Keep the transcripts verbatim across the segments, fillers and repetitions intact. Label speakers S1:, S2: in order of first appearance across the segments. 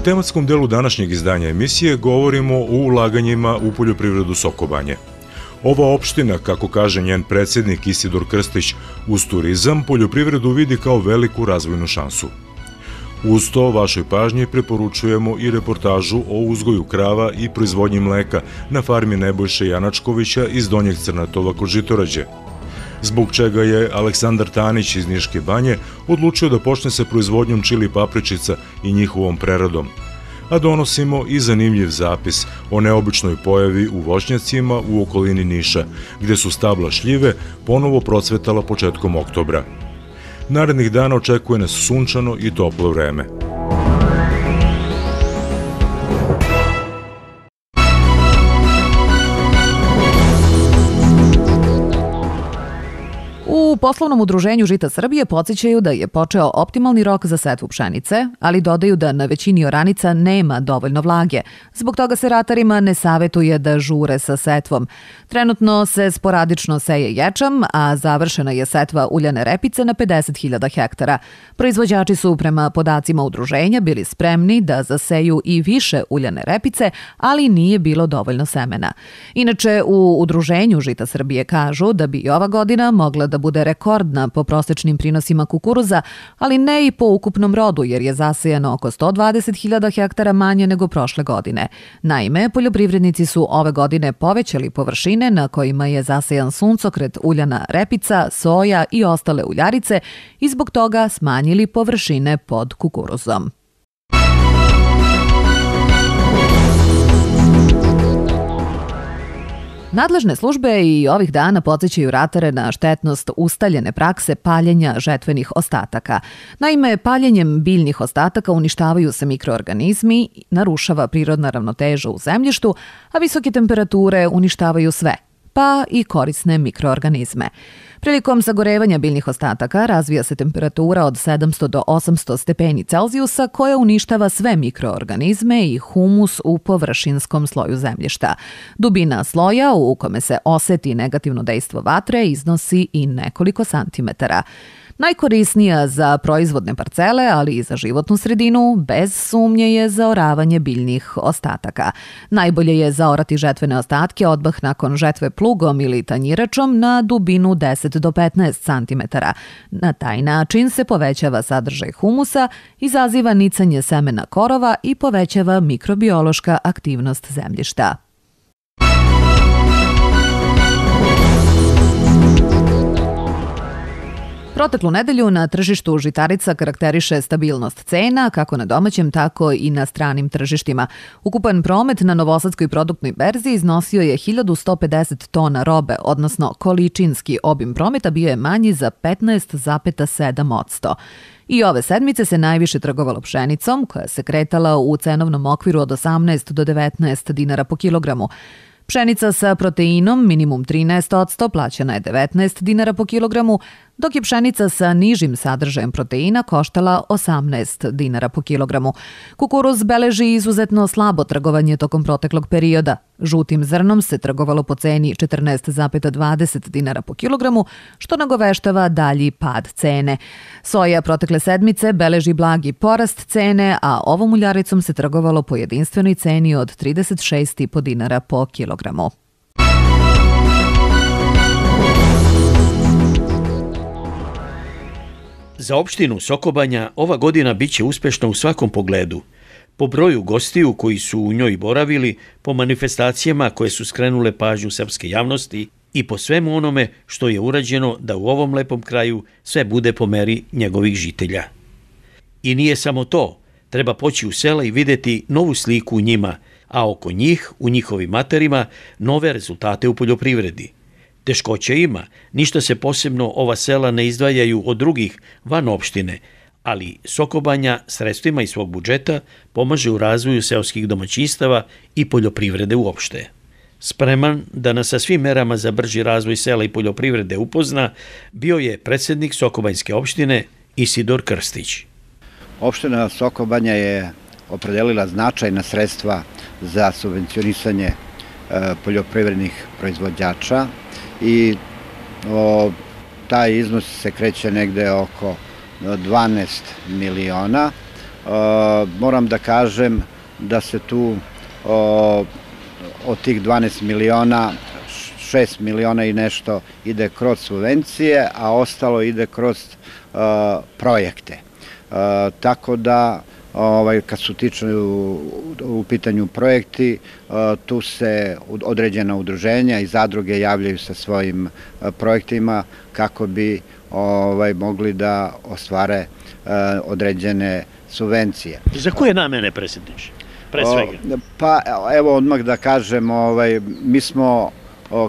S1: tematskom delu današnjeg izdanja emisije govorimo o ulaganjima u poljoprivredu Sokobanje. Ova opština, kako kaže njen predsjednik Isidor Krstić, uz turizam poljoprivredu vidi kao veliku razvojnu šansu. Uz to vašoj pažnji preporučujemo i reportažu o uzgoju krava i proizvodnji mleka na farmi Nebojše Janačkovića iz Donjeg Crnatova kod Žitorađe. Zbog čega je Aleksandar Tanić iz Niške banje odlučio da počne sa proizvodnjom čili papričica i njihovom preradom. A donosimo i zanimljiv zapis o neobičnoj pojavi u voćnjacima u okolini Niša, gde su stabla šljive ponovo procvetala početkom oktobra. Narednih dana očekuje nas sunčano i toplo vreme.
S2: U poslovnom udruženju Žita Srbije podsjećaju da je počeo optimalni rok za setvu pšenice, ali dodaju da na većini oranica nema dovoljno vlage. Zbog toga se ratarima ne savetuje da žure sa setvom. Trenutno se sporadično seje ječam, a završena je setva uljane repice na pedeset hiljada hektara. Proizvođači su prema podacima udruženja bili spremni da zaseju i više uljane repice, ali nije bilo dovoljno semena. Inače, u udruženju Žita Srbije kažu da bi i ova godina mogla da bude rekordna po prosečnim prinosima kukuruza, ali ne i po ukupnom rodu, jer je zasejano oko sto dvadeset hiljada hektara manje nego prošle godine. Naime, poljoprivrednici su ove godine povećali površine na kojima je zasejan suncokret, uljana repica, soja i ostale uljarice i zbog toga smanjili površine pod kukuruzom. Nadležne službe i ovih dana podsjećaju ratare na štetnost ustaljene prakse paljenja žetvenih ostataka. Naime, paljenjem biljnih ostataka uništavaju se mikroorganizmi, narušava prirodna ravnoteža u zemljištu, a visoke temperature uništavaju sve, pa i korisne mikroorganizme. Prilikom sagorevanja biljnih ostataka razvija se temperatura od sedamsto do osamsto stepeni Celzijusa koja uništava sve mikroorganizme i humus u površinskom sloju zemljišta. Dubina sloja u kome se oseti negativno dejstvo vatre iznosi i nekoliko santimetara. Najkorisnija za proizvodne parcele, ali i za životnu sredinu, bez sumnje je zaoravanje biljnih ostataka. Najbolje je zaorati žetvene ostatke odmah nakon žetve plugom ili tanjiračom na dubinu deset do petnaest santimetara. Na taj način se povećava sadržaj humusa, izaziva nicanje semena korova i povećava mikrobiološka aktivnost zemljišta. Proteklu nedelju na tržištu žitarica karakteriše stabilnost cena, kako na domaćem, tako i na stranim tržištima. Ukupan promet na Novosadskoj produktnoj berzi iznosio je hiljadu sto pedeset tona robe, odnosno količinski obim prometa bio je manji za petnaest zarez sedam posto. I ove sedmice se najviše trgovalo pšenicom, koja se kretala u cenovnom okviru od osamnaest do devetnaest dinara po kilogramu. Pšenica sa proteinom minimum trinaest posto plaćena je devetnaest dinara po kilogramu, dok je pšenica sa nižim sadržajem proteina koštala osamnaest dinara po kilogramu. Kukuruz beleži izuzetno slabo trgovanje tokom proteklog perioda. Žutim zrnom se trgovalo po ceni četrnaest zarez dvadeset dinara po kilogramu, što nagoveštava dalji pad cene. Soja protekle sedmice beleži blagi porast cene, a ovom uljaricom se trgovalo po jedinstvenoj ceni od trideset šest zarez pet dinara po kilogramu.
S3: Za opštinu Sokobanja ova godina biće uspešna u svakom pogledu. Po broju gostiju koji su u njoj boravili, po manifestacijama koje su skrenule pažnju srpske javnosti i po svemu onome što je urađeno da u ovom lepom kraju sve bude po meri njegovih žitelja. I nije samo to, treba poći u sela i videti novu sliku u njima, a oko njih, u njihovim materima, nove rezultate u poljoprivredi. Teškoća ima, ništa se posebno ova sela ne izdvajaju od drugih van opštine, ali Sokobanja sredstvima iz svog budžeta pomaže u razvoju seoskih domaćinstava i poljoprivrede uopšte. Spreman da nas sa svim merama za brži razvoj sela i poljoprivrede upozna, bio je predsjednik Sokobanjske opštine Isidor Krstić.
S4: Opština Sokobanja je opredelila značajna sredstva za subvencionisanje poljoprivrednih proizvođača i o, taj iznos se kreće negde oko dvanaest miliona, moram da kažem da se tu od tih dvanaest miliona, šest miliona i nešto ide kroz subvencije, a ostalo ide kroz projekte. Tako da, kad su tiču u pitanju projekti, tu se određena udruženja i zadruge javljaju sa svojim projektima kako bi mogli da ostvare određene subvencije.
S3: Za koje namene, predsjedniče? Pre svega.
S4: Pa evo odmah da kažem, mi smo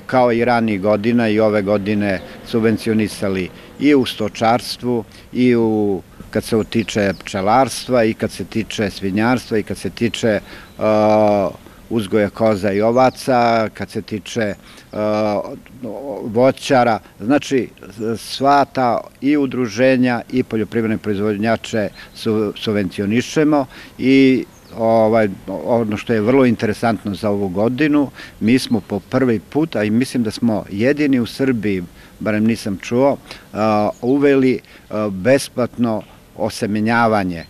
S4: kao i ranijih godina i ove godine subvencionisali i u stočarstvu i u kad se tiče pčelarstva i kad se tiče svinjarstva i kad se tiče uzgoja koza i ovaca, kad se tiče voćara. Znači, sva ta i udruženja i poljoprivredne proizvodnjače subvencionišemo i ono što je vrlo interesantno za ovu godinu, mi smo po prvi put, a i mislim da smo jedini u Srbiji, barem nisam čuo, uveli besplatno osemenjavanje.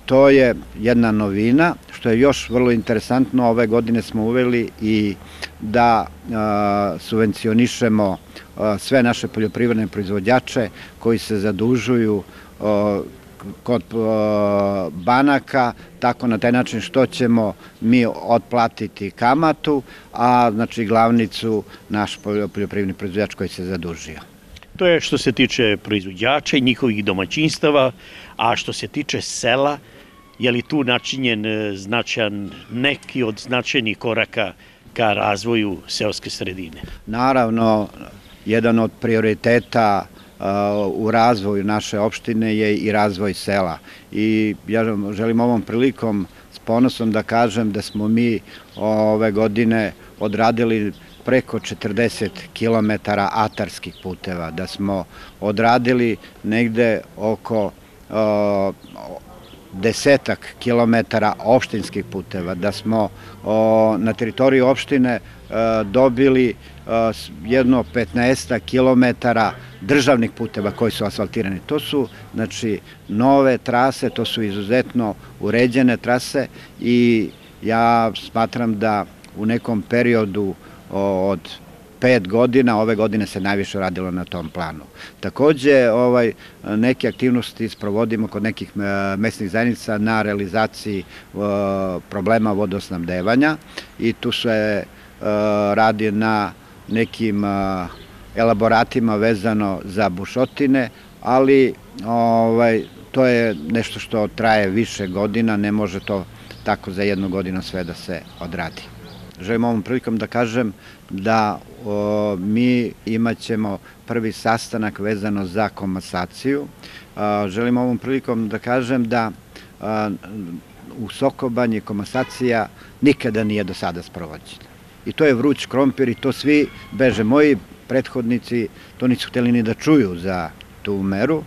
S4: To je jedna novina, što je još vrlo interesantno. Ove godine smo uveli i da subvencionišemo sve naše poljoprivredne proizvođače koji se zadužuju kod banaka, tako na taj način što ćemo mi otplatiti kamatu, a znači glavnicu naš poljoprivredni proizvođač koji se zadužio.
S3: To je što se tiče proizvođača i njihovih domaćinstava, a što se tiče sela, je li tu načinjen značajan neki od značajnih koraka ka razvoju seoske sredine?
S4: Naravno, jedan od prioriteta u razvoju naše opštine je i razvoj sela. I ja želim ovom prilikom s ponosom da kažem da smo mi ove godine odradili preko četrdeset kilometara atarskih puteva, da smo odradili negde oko desetak kilometara opštinskih puteva, da smo na teritoriji opštine dobili jedno petnaestak kilometara državnih puteva koji su asfaltirani. To su, znači, nove trase, to su izuzetno uređene trase i ja smatram da u nekom periodu od pet godina, ove godine se najviše radilo na tom planu. Takođe, neke aktivnosti sprovodimo kod nekih mesnih zajednica na realizaciji problema vodosnabdevanja i tu se radi na nekim elaboratima vezano za bušotine, ali to je nešto što traje više godina, ne može to tako za jednu godinu sve da se odradi. Želim ovom prilikom da kažem da mi imat ćemo prvi sastanak vezano za komasaciju. Želim ovom prilikom da kažem da u Sokobanji komasacija nikada nije do sada sprovođena. I to je vruć krompir i to svi beže. Moji prethodnici to nisu hteli ni da čuju za tu meru.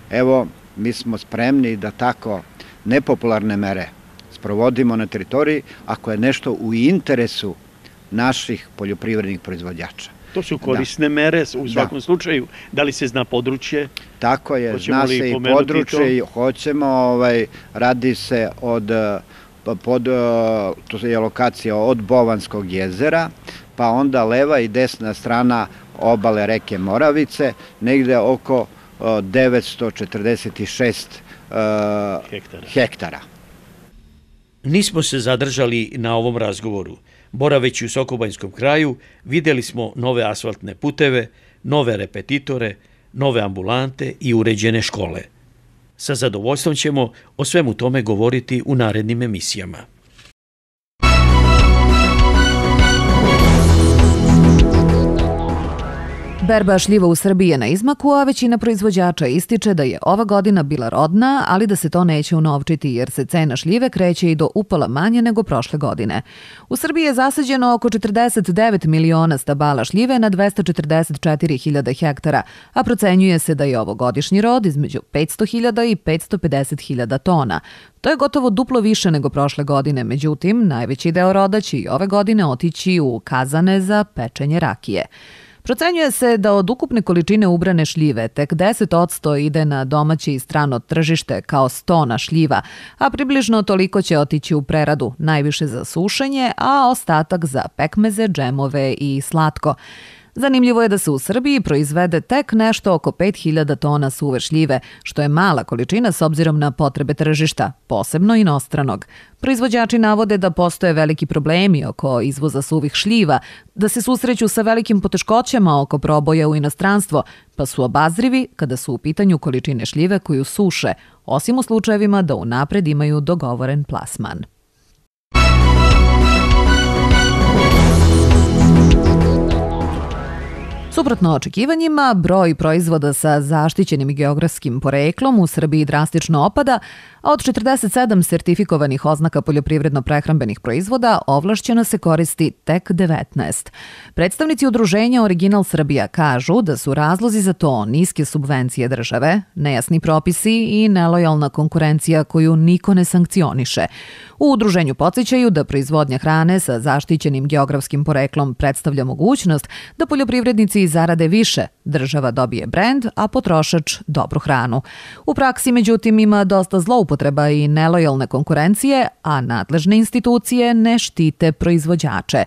S4: Evo, mi smo spremni da tako nepopularne mere sprovodimo na teritoriji ako je nešto u interesu naših poljoprivrednih proizvođača.
S3: To su korisne mere u svakom slučaju. Da li se zna područje?
S4: Tako je, zna se i područje. Hoćemo, radi se od, to je lokacija od Bovanskog jezera, pa onda leva i desna strana obale reke Moravice, negde oko devetsto četrdeset šest hektara.
S3: Nismo se zadržali na ovom razgovoru. Boraveći u Sokobanjskom kraju, videli smo nove asfaltne puteve, nove repetitore, nove ambulante i uređene škole. Sa zadovoljstvom ćemo o svemu tome govoriti u narednim emisijama.
S2: Berba šljiva u Srbiji je na izmaku, a većina proizvođača ističe da je ova godina bila rodna, ali da se to neće unovčiti jer se cena šljive kreće i do upola manje nego prošle godine. U Srbiji je zasađeno oko četrdeset devet miliona stabala šljive na dvesta četrdeset četiri hiljade hektara, a procenjuje se da je ovogodišnji rod između petsto hiljada i petsto pedeset hiljada tona. To je gotovo duplo više nego prošle godine, međutim, najveći deo roda će i ove godine otići u kazane za pečenje rakije. Procenjuje se da od ukupne količine ubrane šljive tek deset posto ide na domaće i strano tržište kao stona šljiva, a približno toliko će otići u preradu, najviše za sušenje, a ostatak za pekmeze, džemove i slatko. Zanimljivo je da se u Srbiji proizvede tek nešto oko pet hiljada tona suve šljive, što je mala količina s obzirom na potrebe tržišta, posebno inostranog. Proizvođači navode da postoje veliki problemi oko izvoza suvih šljiva, da se susreću sa velikim poteškoćama oko proboja u inostranstvo, pa su obazrivi kada su u pitanju količine šljive koju suše, osim u slučajevima da unapred imaju dogovoren plasman. Suprotno očekivanjima, broj proizvoda sa zaštićenim geografskim poreklom u Srbiji drastično opada, a od četrdeset sedam sertifikovanih oznaka poljoprivredno-prehrambenih proizvoda ovlašćeno se koristi tek devetnaest. Predstavnici udruženja Original Srbija kažu da su razlozi za to niske subvencije države, nejasni propisi i nelojalna konkurencija koju niko ne sankcioniše. U udruženju podsjećaju da proizvodnja hrane sa zaštićenim geografskim poreklom predstavlja mogućnost da poljoprivrednici zarade više, država dobije brend, a potrošač dobru hranu. U praksi, međutim, ima dosta zloupotreba i nelojalne konkurencije, a nadležne institucije ne štite proizvođače.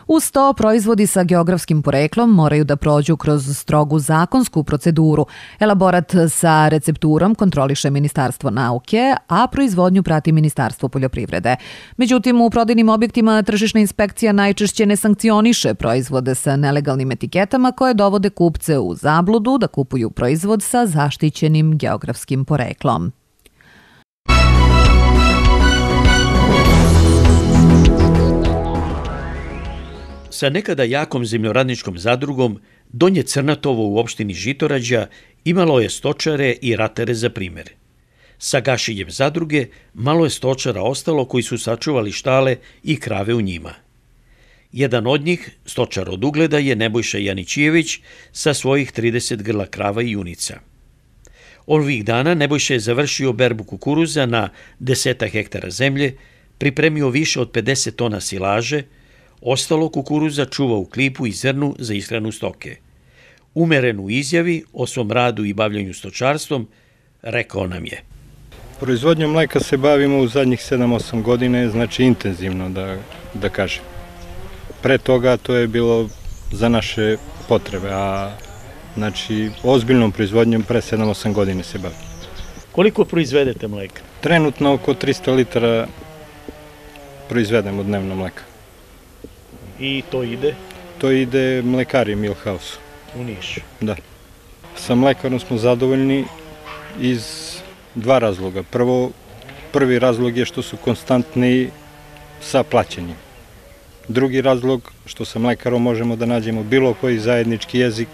S2: Uz to, proizvodi sa geografskim poreklom moraju da prođu kroz strogu zakonsku proceduru. Elaborat sa recepturom kontroliše Ministarstvo nauke, a proizvodnju prati Ministarstvo poljoprivrede. Međutim, u prodajnim objektima tržišna inspekcija najčešće ne sankcioniše proizvode sa nelegalnim etiketama koje dovode kupce u zabludu da kupuju proizvod sa zaštićenim geografskim poreklom.
S3: Sa nekada jakom zemljoradničkom zadrugom, Donje Crnatovo u opštini Žitorađa imalo je stočare i ratere za primjer. Sa gašenjem zadruge malo je stočara ostalo koji su sačuvali štale i krave u njima. Jedan od njih, stočar od ugleda, je Nebojša Janićijević sa svojih trideset grla krava i junica. Ovih dana Nebojša je završio berbu kukuruza na deseta hektara zemlje, pripremio više od pedeset tona silaže, ostalo kukuruza čuva u klipu i zrnu za ishranu stoke. Umeren u izjavi o svom radu i bavljanju stočarstvom, rekao nam je:
S5: Proizvodnjom mleka se bavimo u zadnjih sedam osam godine, znači intenzivno da, da kažem. Pre toga to je bilo za naše potrebe, a znači ozbiljnom proizvodnjom pre sedam osam godine se bavimo.
S3: Koliko proizvedete mleka?
S5: Trenutno oko trista litara proizvedemo dnevno mleka.
S3: I to ide?
S5: To ide mlekari Milhouse.
S3: U Nišu?
S5: Da. Sa mlekarom smo zadovoljni iz dva razloga. Prvo, prvi razlog je što su konstantni sa plaćanjem. Drugi razlog, što sa mlekarom možemo da nađemo bilo koji zajednički jezik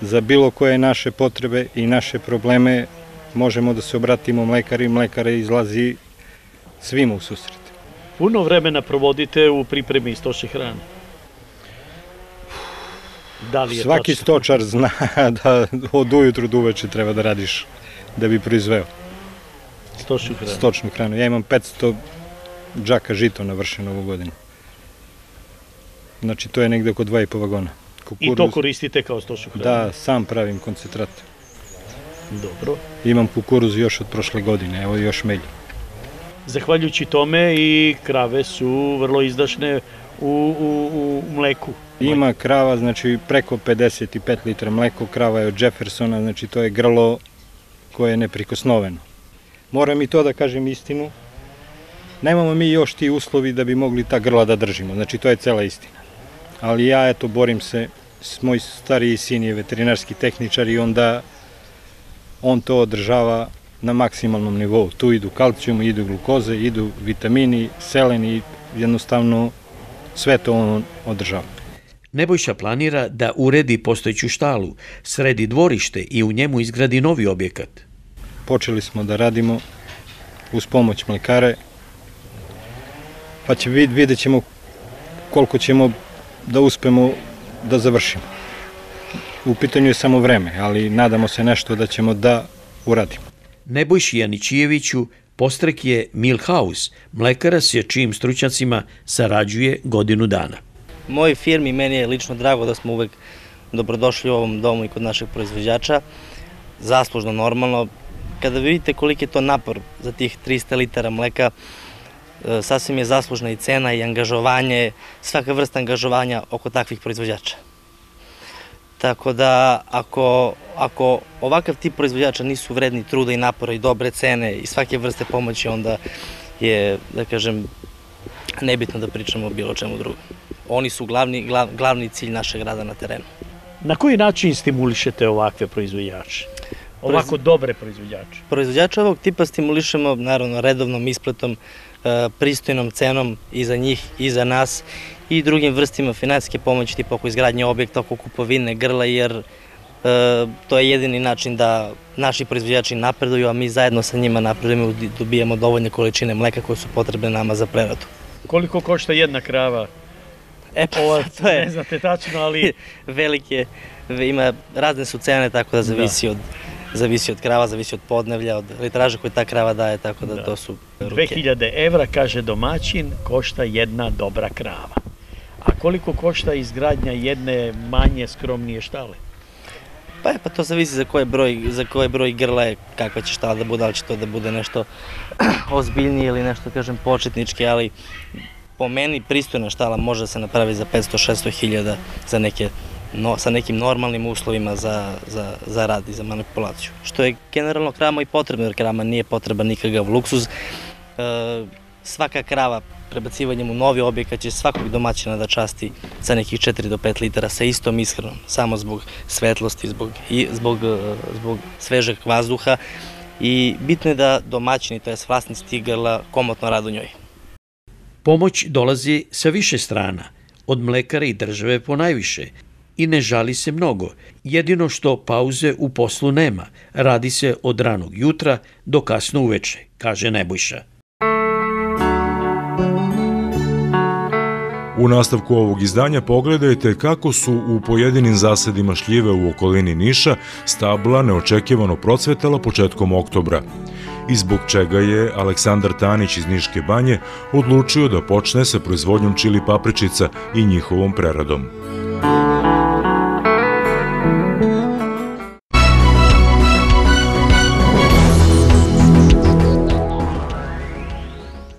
S5: za bilo koje naše potrebe i naše probleme, možemo da se obratimo mlekari, mlekare izlazi svima u susret.
S3: Puno vremena provodite u pripremi stočne hrane. Da li je
S5: Svaki
S3: točno?
S5: stočar zna da od ujutru do uveče treba da radiš da bi proizveo
S3: stočnu hranu.
S5: stočnu hranu. Ja imam petsto džaka žito navršeno ovu godinu. Znači to je negde oko dva i po vagona.
S3: Kukuruz, I to koristite kao stočnu hranu?
S5: Da, sam pravim koncentrat.
S3: Dobro.
S5: Imam kukuruz još od prošle godine, evo još melju.
S3: Zahvaljujući tome i krave su vrlo izdašne u, u, u mleku.
S5: Ima krava, znači preko pedeset pet litara mleko, krava je od Jeffersona, znači to je grlo koje je neprikosnoveno. Moram i to da kažem istinu, nemamo mi još ti uslovi da bi mogli ta grla da držimo, znači to je cela istina. Ali ja, eto, borim se, moj stariji sin je veterinarski tehničar i onda on to održava na maksimalnom nivou. Tu idu kalcijum, idu glukoze, idu vitamini, selen i jednostavno sve to on održava.
S3: Nebojša planira da uredi postojeću štalu, sredi dvorište i u njemu izgradi novi objekat.
S5: Počeli smo da radimo uz pomoć mlekare, pa će vid, vidjet ćemo koliko ćemo da uspemo da završimo. U pitanju je samo vreme, ali nadamo se nešto da ćemo da uradimo.
S3: Nebojši Janićijeviću postrek je Milhouse, mlekara s čijim stručnjacima sarađuje godinu dana.
S6: mojoj firmi, meni je lično drago da smo uvek dobrodošli u ovom domu i kod našeg proizvođača. Zaslužno, normalno. Kada vidite koliki je to napor za tih trista litara mleka, sasvim je zaslužna i cena i angažovanje, svaka vrsta angažovanja oko takvih proizvođača. Tako da, ako, ako ovakav tip proizvođača nisu vredni truda i napora i dobre cene i svake vrste pomoći, onda je, da kažem, nebitno da pričamo o bilo čemu drugom. Oni su glavni, glav, glavni cilj našeg rada na terenu.
S3: Na koji način stimulišete ovakve proizvođače? Ovako dobre proizvođače?
S6: Proizvođače ovog tipa stimulišemo, naravno, redovnom ispletom, pristojnom cenom i za njih i za nas i drugim vrstima finansijske pomoći, tipa oko izgradnje objekta, oko kupovine grla, jer e, to je jedini način da naši proizvođači napreduju, a mi zajedno sa njima napredujemo i dobijemo dovoljne količine mleka koje su potrebne nama za preradu.
S3: Koliko košta jedna krava?
S6: E pa, Ova, to je...
S3: Ne znate tačno, ali...
S6: Velike, ima, razne su cene, tako da zavisi, da. Od, zavisi od krava, zavisi od podnevlja, od litraža koje ta krava daje, tako da, da. To su ruke.
S3: dve hiljade evra, kaže domaćin, košta jedna dobra krava. A koliko košta izgradnja jedne manje, skromnije štale?
S6: Pa je, pa to zavisi za koji broj, za koji broj grla je, kakva će štala da bude, ali će to da bude nešto ozbiljnije ili nešto, kažem, početnički, ali po meni pristojna štala može da se napravi za petsto do šesto hiljada za neke, no, sa nekim normalnim uslovima za, za, za rad i za manipulaciju. Što je generalno kravama i potrebno, jer krava nije potreban nikakav luksuz. E, svaka krava prebacivanjem u novi objekat će svakog domaćina da časti sa nekih četiri do pet litara sa istom ishranom, samo zbog svetlosti, zbog, i, zbog, zbog svežeg vazduha i bitno je da domaćini, to je vlasnici tih grla, komotno rade u njoj.
S3: Pomoć dolazi sa više strana, od mlekara i države po najviše, i ne žali se mnogo. Jedino što pauze u poslu nema, radi se od ranog jutra do kasno uveče, kaže Nebojša.
S1: U nastavku ovog izdanja pogledajte kako su u pojedinim zasadima šljive u okolini Niša stabla neočekivano procvetala početkom oktobra i zbog čega je Aleksandar Tanić iz Niške banje odlučio da počne sa proizvodnjom čili papričica i njihovom preradom.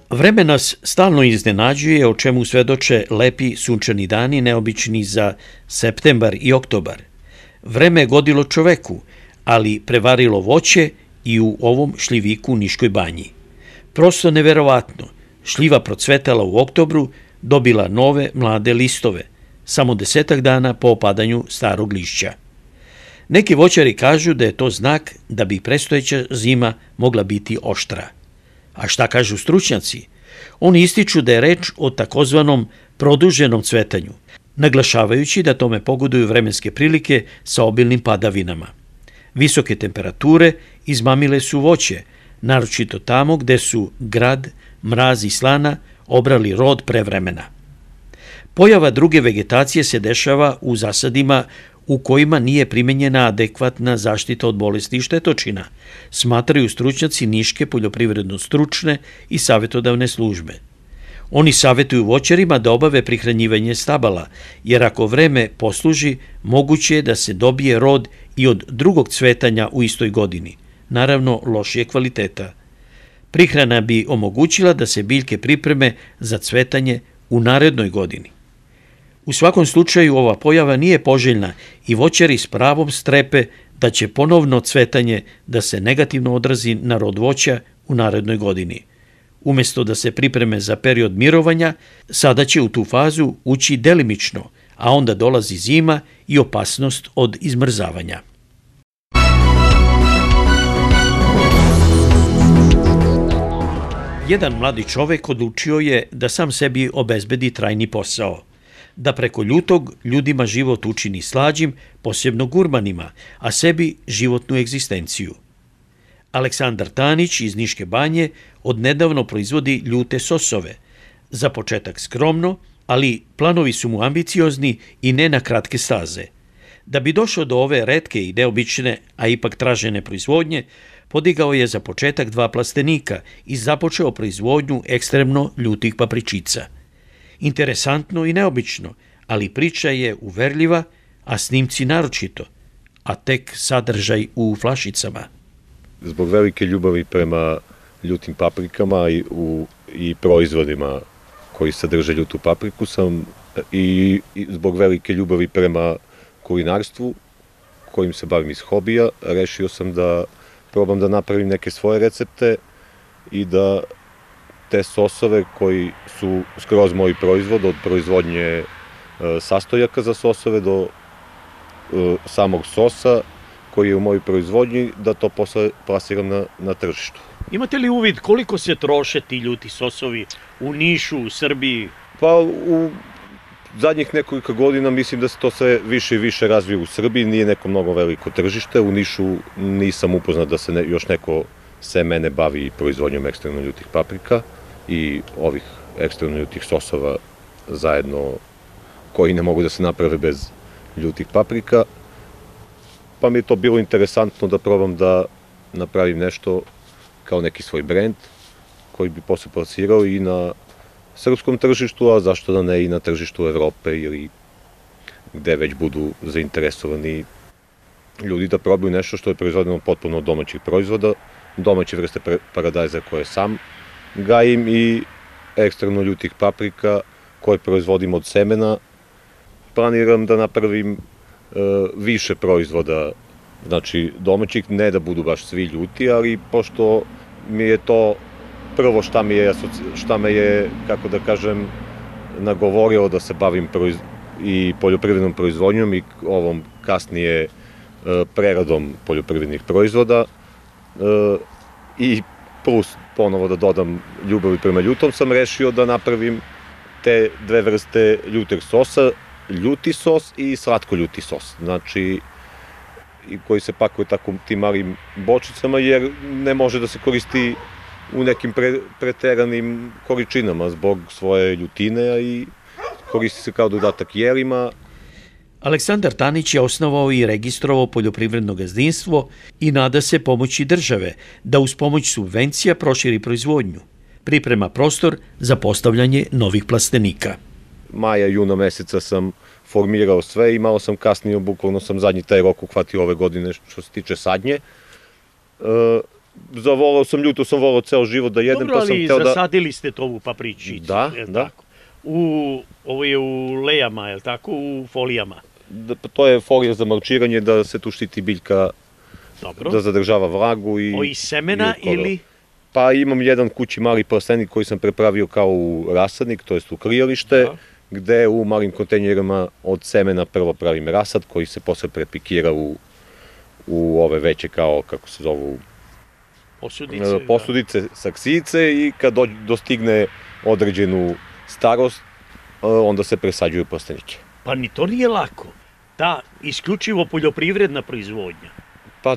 S3: Vreme nas stalno iznenađuje, o čemu svedoče lepi sunčani dani, neobični za septembar i oktobar. Vreme je godilo čoveku, ali prevarilo voće i u ovom šljiviku u Niškoj banji. Prosto neverovatno, šljiva procvetala u oktobru, dobila nove mlade listove, samo desetak dana po opadanju starog lišća. Neki voćari kažu da je to znak da bi prestojeća zima mogla biti oštra. A šta kažu stručnjaci? Oni ističu da je reč o takozvanom produženom cvetanju, naglašavajući da tome pogoduju vremenske prilike sa obilnim padavinama. Visoke temperature izmamile su voće, naročito tamo gde su grad, mraz i slana obrali rod pre vremena. Pojava druge vegetacije se dešava u zasadima u kojima nije primenjena adekvatna zaštita od bolesti i štetočina, smatraju stručnjaci Niške poljoprivredno-stručne i savjetodavne službe. Oni savjetuju voćarima da obave prihranjivanje stabala, jer ako vreme posluži, moguće je da se dobije rod i od drugog cvetanja u istoj godini, naravno lošije kvaliteta. Prihrana bi omogućila da se biljke pripreme za cvetanje u narednoj godini. U svakom slučaju ova pojava nije poželjna i voćari s pravom strepe da će ponovno cvetanje da se negativno odrazi na rod voća u narednoj godini. Umesto da se pripreme za period mirovanja, sada će u tu fazu ući delimično, a onda dolazi zima i opasnost od izmrzavanja. Jedan mladi čovek odlučio je da sam sebi obezbedi trajni posao, da preko ljutog ljudima život učini slađim, posebno gurmanima, a sebi životnu egzistenciju. Aleksandar Tanić iz Niške banje odnedavno proizvodi ljute sosove. Za početak skromno, ali planovi su mu ambiciozni i ne na kratke staze. Da bi došao do ove retke i neobične, a ipak tražene proizvodnje, podigao je za početak dva plastenika i započeo proizvodnju ekstremno ljutih papričica. Interesantno i neobično, ali priča je uverljiva, a snimci naročito, a tek sadržaj u flašicama.
S7: Zbog velike ljubavi prema ljutim paprikama i, u, i proizvodima koji sadrže ljutu papriku sam i, i zbog velike ljubavi prema kulinarstvu kojim se bavim iz hobija, rešio sam da probam da napravim neke svoje recepte i da te sosove koji su skroz moj proizvod, od proizvodnje e, sastojaka za sosove do e, samog sosa koji je u mojoj proizvodnji, da to posle plasiram na, na tržištu.
S3: Imate li uvid koliko se troše ti ljuti sosovi u Nišu, u Srbiji?
S7: Pa u zadnjih nekoliko godina mislim da se to sve više i više razvije u Srbiji, nije neko mnogo veliko tržište, u Nišu nisam upoznat da se ne, još neko se mene bavi proizvodnjom ekstremno ljutih paprika i ovih ekstremno ljutih sosova zajedno koji ne mogu da se naprave bez ljutih paprika. Pa mi je to bilo interesantno da probam da napravim nešto kao neki svoj brend koji bi posle plasirao i na srpskom tržištu, a zašto da ne i na tržištu Evrope ili gde već budu zainteresovani ljudi da probaju nešto što je proizvodeno potpuno od domaćih proizvoda, domaće vrste paradajza koje sam gajim i ekstremno ljutih paprika koje proizvodim od semena. Planiram da napravim e, više proizvoda, znači domaćih, ne da budu baš svi ljuti, ali pošto mi je to prvo šta, mi je, šta me je, kako da kažem, nagovorilo da se bavim proiz... i poljoprivrednom proizvodnjom i ovom kasnije e, preradom poljoprivrednih proizvoda e, i plus ponovo da dodam ljubavi prema ljutom, sam rešio da napravim te dve vrste ljuteg sosa, ljuti sos i slatko ljuti sos, znači i koji se pakuje tako tim malim bočicama jer ne može da se koristi u nekim pre, preteranim količinama zbog svoje ljutine i koristi se kao dodatak jelima.
S3: Aleksandar Tanić je osnovao i registrovao poljoprivredno gazdinstvo i nada se pomoći države da uz pomoć subvencija proširi proizvodnju. Priprema prostor za postavljanje novih plastenika.
S7: Maja, juna meseca sam formirao sve i malo sam kasnije, bukvalno sam zadnji taj rok uhvatio ove godine što se tiče sadnje. E, zavolao sam, ljuto sam volao ceo život da jedem.
S3: Dobro,
S7: pa sam
S3: ali
S7: teo da...
S3: zasadili ste to u papričicu.
S7: Da, da.
S3: Tako? U, ovo je u lejama, je li tako? U folijama.
S7: Da, to je folija za marčiranje, da se tu štiti biljka,
S3: dobro,
S7: da zadržava vlagu. I,
S3: o, iz semena
S7: i
S3: ili?
S7: Pa imam jedan kući mali plastenik koji sam prepravio kao u rasadnik, to jest u krijalište, da, gde u malim kontejnerima od semena prvo pravim rasad koji se posle prepikira u, u ove veće kao, kako se zovu,
S3: posudice,
S7: posudice da, saksice i kad do, dostigne određenu starost, onda se presađuju plastenike.
S3: Pa ni to nije lako. Ta isključivo poljoprivredna proizvodnja.
S7: Pa,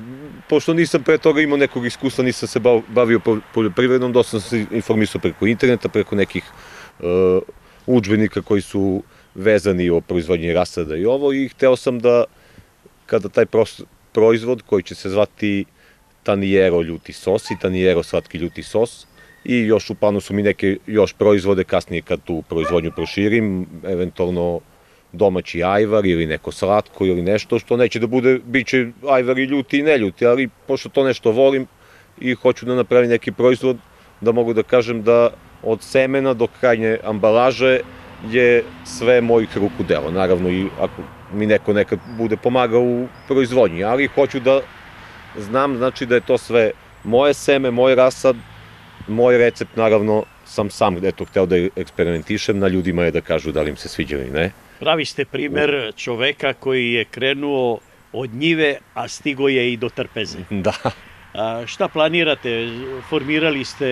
S7: pošto nisam pre toga imao nekog iskustva, nisam se bavio poljoprivrednom, dosta sam se informisao preko interneta, preko nekih uh, udžbenika koji su vezani o proizvodnji rasada i ovo, i hteo sam da, kada taj proizvod koji će se zvati Taniero ljuti sos i Taniero slatki ljuti sos, i još u planu su mi neke još proizvode, kasnije kad tu proizvodnju proširim, eventualno domaći ajvar ili neko slatko ili nešto što neće da bude, bit će ajvar i ljuti i neljuti, ali pošto to nešto volim i hoću da napravim neki proizvod, da mogu da kažem da od semena do krajnje ambalaže je sve mojih ruku delo. Naravno i ako mi neko nekad bude pomagao u proizvodnji, ali hoću da znam, znači da je to sve moje seme, moj rasad, moj recept, naravno sam sam eto hteo da eksperimentišem, na ljudima je da kažu da li im se sviđa ili ne.
S3: Pravi ste primer čoveka koji je krenuo od njive, a stigo je i do trpeze.
S7: Da.
S3: A šta planirate? Formirali ste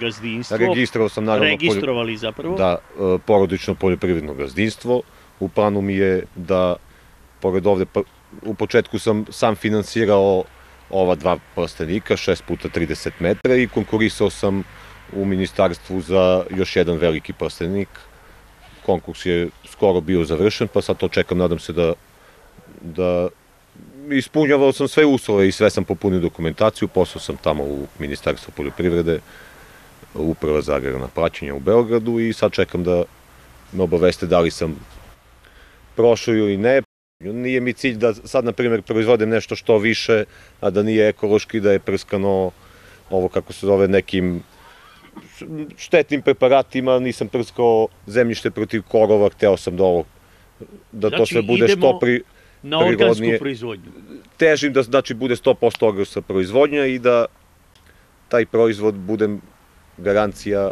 S3: gazdinstvo?
S7: Registrovao sam, naravno.
S3: Registrovali zapravo?
S7: Da, porodično poljoprivredno gazdinstvo. U planu mi je da, pored ovde, u početku sam sam finansirao ova dva plastenika, šest puta trideset metara, i konkurisao sam u ministarstvu za još jedan veliki plastenik. Konkurs je skoro bio završen, pa sad to čekam, nadam se da, da ispunjavao sam sve uslove i sve sam popunio dokumentaciju, poslao sam tamo u Ministarstvo poljoprivrede, Uprava za agrarna plaćanja u Beogradu, i sad čekam da me obaveste da li sam prošlo ili ne. Nije mi cilj da sad, na primjer, proizvodim nešto što više, a da nije ekološki, da je prskano, ovo kako se zove, nekim štetnim preparatima, nisam prskao zemljište protiv korova, hteo sam da ovo, da to sve bude što pri...
S3: na organsku proizvodnju.
S7: Težim da znači bude sto posto organska proizvodnja i da taj proizvod bude garancija,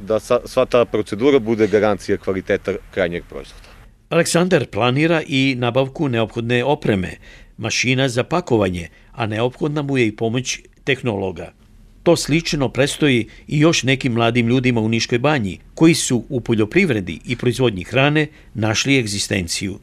S7: da sva ta procedura bude garancija kvaliteta krajnjeg proizvoda.
S3: Aleksandar planira i nabavku neophodne opreme, mašina za pakovanje, a neophodna mu je i pomoć tehnologa. To slično prestoji i još nekim mladim ljudima u Niškoj banji, koji su u poljoprivredi i proizvodnji hrane našli egzistenciju.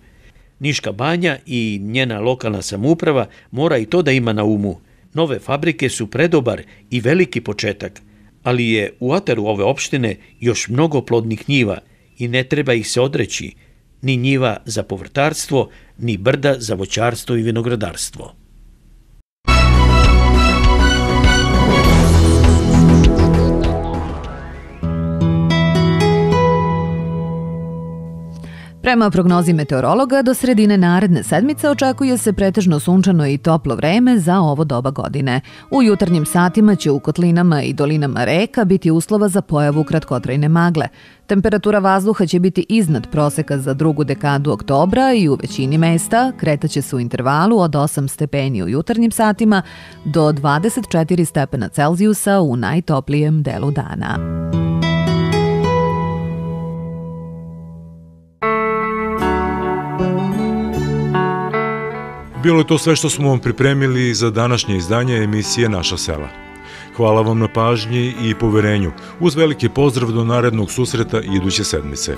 S3: Niška banja i njena lokalna samouprava mora i to da ima na umu. Nove fabrike su predobar i veliki početak, ali je u ataru ove opštine još mnogo plodnih njiva i ne treba ih se odreći, ni njiva za povrtarstvo, ni brda za voćarstvo i vinogradarstvo.
S2: Prema prognozi meteorologa, do sredine naredne sedmice očekuje se pretežno sunčano i toplo vreme za ovo doba godine. U jutarnjim satima će u kotlinama i dolinama reka biti uslova za pojavu kratkotrajne magle. Temperatura vazduha će biti iznad proseka za drugu dekadu oktobra i u većini mesta kretaće se u intervalu od osam stepeni u jutarnjim satima do dvadeset četiri stepena Celzijusa u najtoplijem delu dana.
S1: Bilo je to sve što smo vam pripremili za današnje izdanje emisije Naša sela. Hvala vam na pažnji i poverenju. Uz veliki pozdrav do narednog susreta iduće sedmice.